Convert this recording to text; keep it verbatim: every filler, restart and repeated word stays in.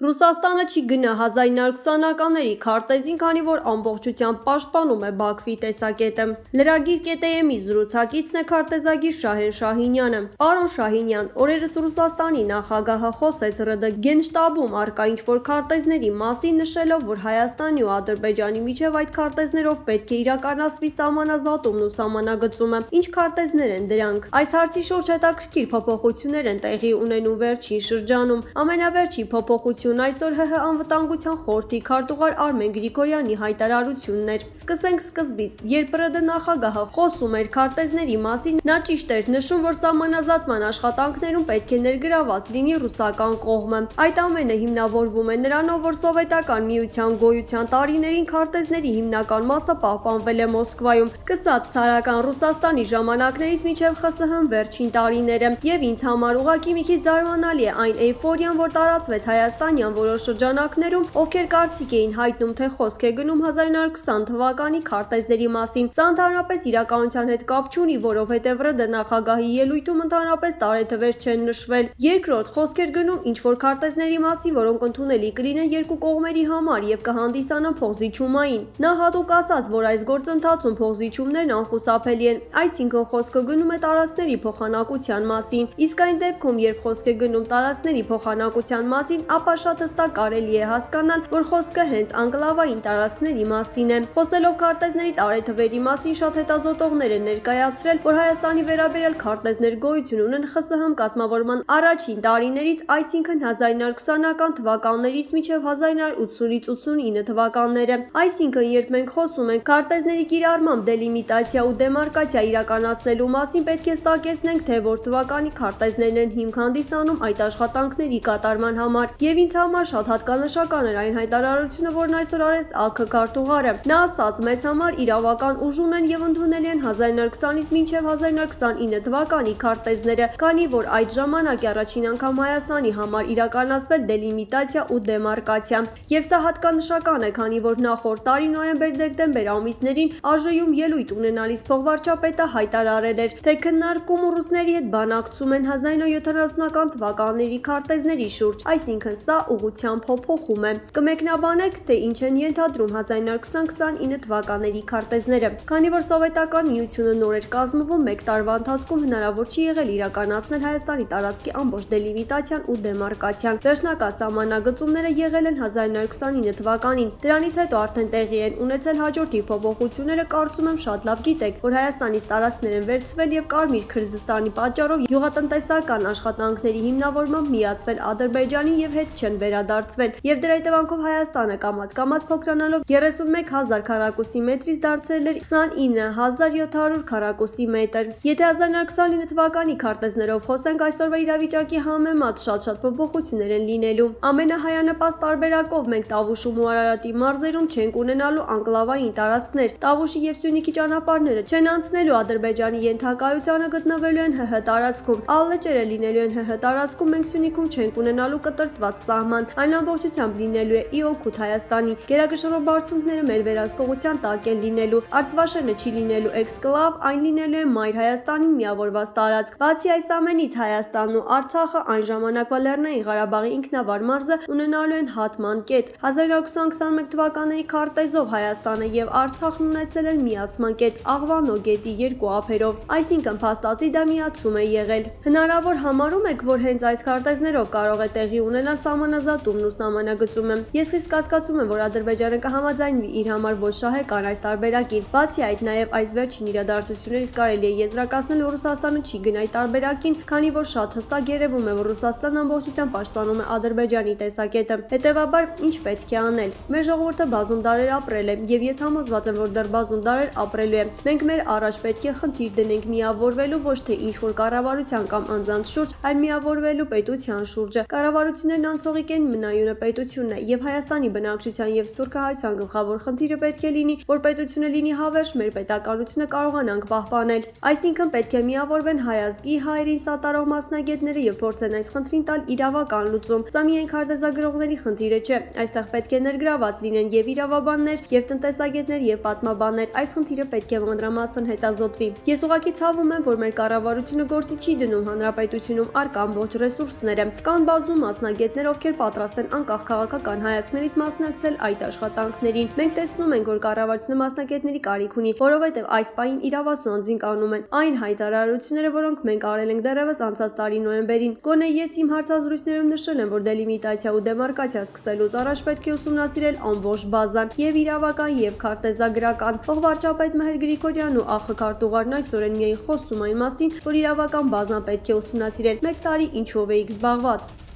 Ռուսաստանը չի գնա հազար իննյակ ութսունականների քարտեզին, քանի որ ամբողջությամբ պաշտպանում է Բաքվի տեսակետը։ Լրագիր կետ-ի զրուցակիցն է քարտեզագիր Շահեն Շահինյանը։ Պարոն Շահինյան, օրերս Ռուսաստանի նախագահը խոսեց ՌԴ գենշտաբում առկա ինչ-որ քարտեզների մասին, նշելով, որ Հայաստանի ու Ադրբեջանի միջև այդ քարտեզներով պետք է իրականացվի սահմանազատումն ու սահմանագծումը։ Ինչ քարտեզներ են դրանք։ Այս հարցի շուրջ հետաքրքիր փոփոխություններ են տեղի ունենում վերջին շրջանում։ Ամենավերջին փոփոխությունը այսօր ՀՀ անվտանգության խորհրդի քարտուղար Արմեն Գրիգորյանի հայտարարությունն էր։ Սկսենք սկզբից, երբ ՌԴ նախագահը խոսում էր քարտեզների մասին, նա ճիշտ էր նշում, որ սահմանազատման աշխատանքներում պետք է ներգրաված լինի ռուսական կողմը։ Այդ ամենը հիմնավորվում է նրանով, որ սովետական միության գոյության տարիներին քարտեզների հիմնական մասը պահպանվել է Մոսկվայում, սկսած ցարական Ռուսաստանի ժամանակներից մինչև ԽՍՀՄ վերջին տարիները, եւ ինձ համար ուղղակի մի քիչ զարմանալի է այն էյֆորիան, որ տարածվեց հայաստանյան որոշ շրջանակներում, ովքեր կարծիք էին հայտնում, թե խոսք է գնում հազար իննյակ ութսուն թվականի քարտեզների մասին։ Սա ընդհանրապես իրականության հետ կապ չունի, որովհետև ՌԴ նախագահի ելույթում ընդհանրապես տարեթվեր չեն նշվել։ Երկրորդ, խոսք էր գնում ինչ-որ քարտեզների մասին, որոնք ընդունելի կլինեն երկու կողմերի համար եւ կհանդիսանան փոխզիջումային։ Նա հատուկ ասաց, որ այս գործընթացում փոխզիջումներն անխուսափելի են, այսինքն խոսքը գնում է տարածքների փոխանակության մասին։ Իսկ այն դեպքում, երբ խոսք է գնում տարածքների փոխանակության մասին, ապա շատ հստակ կարելի է հասկանալ, որ խոսքը հենց անկլավային տարածքների մասին է։ Խոսելով քարտեզների տարեթվերի մասին, շատ հետազոտողներ են ներկայացրել, որ Հայաստանի վերաբերյալ քարտեզներ գոյություն ունեն ԽՍՀՄ կազմավորման առաջին տարիներից, այսինքն հազար իննյակ ութսունական թվականներից մինչև հազար իննյակ ութսունից ութսունինը թվականները։ Այսինքն, երբ մենք խոսում ենք քարտեզների կիրառմամբ դելիմիտացիա ու դեմարկացիա իրականացնելու մասին, պետք է ստակեցնենք, թե որ թվականի քարտեզներն են հիմք հանդիսանում այդ աշխատանքների կատարման համար։ Եվ ինձ համար շատ հատկանշական էր այն հայտարարությունը, որն այսօր արեց ԱՔ քարտուղարը։ Նա ասաց, մեզ համար իրավական ուժ ունեն եւ ընդունելի են հազար իննյակ ութսունից մինչև հազար իննյակ ութսունինը թվականի քարտեզները, քանի որ այդ ժամանակ առաջին անգամ Հայաստանի համար իրականացվել դելիմիտացիա ու դեմարկացիա։ Եվ սա հատկանշական է, քանի որ նախորդ տարի նոյեմբեր-դեկտեմբեր ամիսներին ԱԺ-ում ելույթ ունենալիս փոխվարչապետը հայտարարել էր, թե քննարկում ու ռուսների հետ բանակցում են հազար իննյակ յոթանասունական թվականների քարտեզների շուրջ, այսինքն սա ուղղությամբ փոփոխում է։ Կմեկնաբանեք, թե ինչ են ենթադրում հազար իննյակ ութսուն-ութսունինը թվականների քարտեզները։ Քանի որ սովետական միությունը նոր էր կազմվում, մեկ տարվա ընթացքում հնարավոր չի եղել իրականացնել Հայաստանի տարածքի ամբողջ դելիմիտացիան ու դեմարկացիան։ Վերջնական սահմանագծումները եղել են հազար իննյակ ութսունինը թվականին։ Դրանից հետո արդեն տեղի են ունեցել հաջորդի փոփոխությունները, կարծում եմ շատ լավ գիտեք, որ Հայաստանից տարածքներ են վերցվել եւ Կարմիր Քրդստանի պատճառով գյուղատնտեսական աշխատանքների հիմնավորմամբ միացվել Ադրբեջանին եւ հետ չեն վերադարձվել, եւ դրա հետևանքով Հայաստանը կամաց-կամաց փոքրանալով երեսունմեկ հազար քառակուսի մետրից դարձել էր քսանինը հազար յոթ հարյուր քառակուսի մետր։ Եթե հազար իննյակ ութսունինը թվականի քարտեզներով խոսենք, այսօրվա իրավիճակի համեմատ շատ-շատ փոփոխություններ են լինելու։ Ամենահայանպաստ տարբերակով մենք Տավուշում ու Արարատի մարզերում չենք ունենալու անկլավային տարածքներ, Տավուշի եւ Սյունիքի ճանապարհները չեն անցնելու Ադրբեջանի ենթակայությանը գտնվելու են ՀՀ տարածքում, ալլեջերը լինելու են ՀՀ տարածքում, մենք Սյունիքում չենք ունենալու կտրտված սահման, այն ամբողջությամբ լինելու է ի օգուտ Հայաստանի, գերակշռող բարձունքները մեր վերահսկողության տակ են լինելու, Արցվաշենը չի լինելու էքսկլավ, այն լինելու է մայր Հայաստանին միավորված տարածք։ Բացի այս ամենից, Հայաստանն ու Արցախը այն ժամանակվա Լեռնային Ղարաբաղի ինքնավար մարզը ունենալու են հատման կետ։ հազար իննյակ ութսուն-ութսունմեկ թվականների քարտեզով Հայաստանը եւ Արցախն ունեցել են միացման կետ Աղվանո գետի երկու ափերով, այսինքն փաստացի դա միացում է եղել։ Հնարավոր համարում եք, որ հենց այս քարտեզներով կարող է տեղի ունենալ սահմանազատումն ու սահմանագծումը։ Ես խիստ կասկածում եմ, որ Ադրբեջանը կհամաձայնվի իր համար ոչ շահեկան այս տարբերակին։ Բացի այդ, նաև այս վերջին իրադարձություններից կարելի է եզրակացնել, որ Ռուսաստանը չի գնա այդ տարբերակին, քանի որ շատ հստակ երևում է, որ Ռուսաստանն ամբողջությամբ պաշտպանում է Ադրբեջանի տեսակետը։ Հետևաբար, ինչ պետք է անել։ Մեր ժողովուրդը բազում դարեր ապրել է, եւ ես համոզված եմ, որ դեռ բազում դարեր ապրելու է։ Մենք մեր առաջ պետք է խնդիր դնենք միավորվելու ոչ թե ինչ-որ կառավարության կամ անձանց շուրջ, այլ միավորվելու պետության շուրջը։ Կառավարություններն անցողիկ են, մնայունը պետությունն է, եւ Հայաստանի բնակչության եւ սփյուռքահայության գլխավոր խնդիրը պետք է լինի, որ պետությունը լինի հավերժ, մեր պետականությունը կարողանանք պահպանել։ Այսինքն պետք է միավորվեն հայ ազգի հայերին սատարող մասնագետները եւ փորձեն այս խնդրին տալ իրավական լուծում։ Սա միայն քարտեզագրողների խնդիրը չէ, այստեղ պետք է ներգրաված լինեն եւ իրավաբաններ, եւ տնտեսագետներ, եւ պատմաբաններ։ Այս խնդիրը պետք է մանրամասն հետազոտվի։ Ես ուղղակի ցավում եմ, որ մեր կառավարությունը գործի չի դնում հանրապետությունում առկա ամբողջ ռեսուրսները։ Կան բազում մասնագետներ, ովքեր ովքեր պատրաստ են անկախ քաղաքական հայացքներից մասնակցել այդ աշխատանքներին։ Մենք տեսնում ենք, որ կառավարությունը մասնակիցների կարիք ունի, որովհետև այս պահին իրավասու անձին կանում են այն հայտարարությունները, որոնք մենք արել ենք դեռևս անցած տարի նոյեմբերին։ Գոնե ես իմ հարցազրույցներում նշել եմ, որ դելիմիտացիա ու դեմարկացիա սկսելուց առաջ պետք է ուսումնասիրել ամբողջ բազան եւ իրավական եւ քարտեզագրական։ Փոխվարչապետ Մհեր Գրիգորյանն ու ԱԽ քարտուղարն այսօր միայն խոսում այն մասին, որ իրավական բազան պետք է ուսումնասիրել։ Մեկ տարի ինչով էիք զբաղված։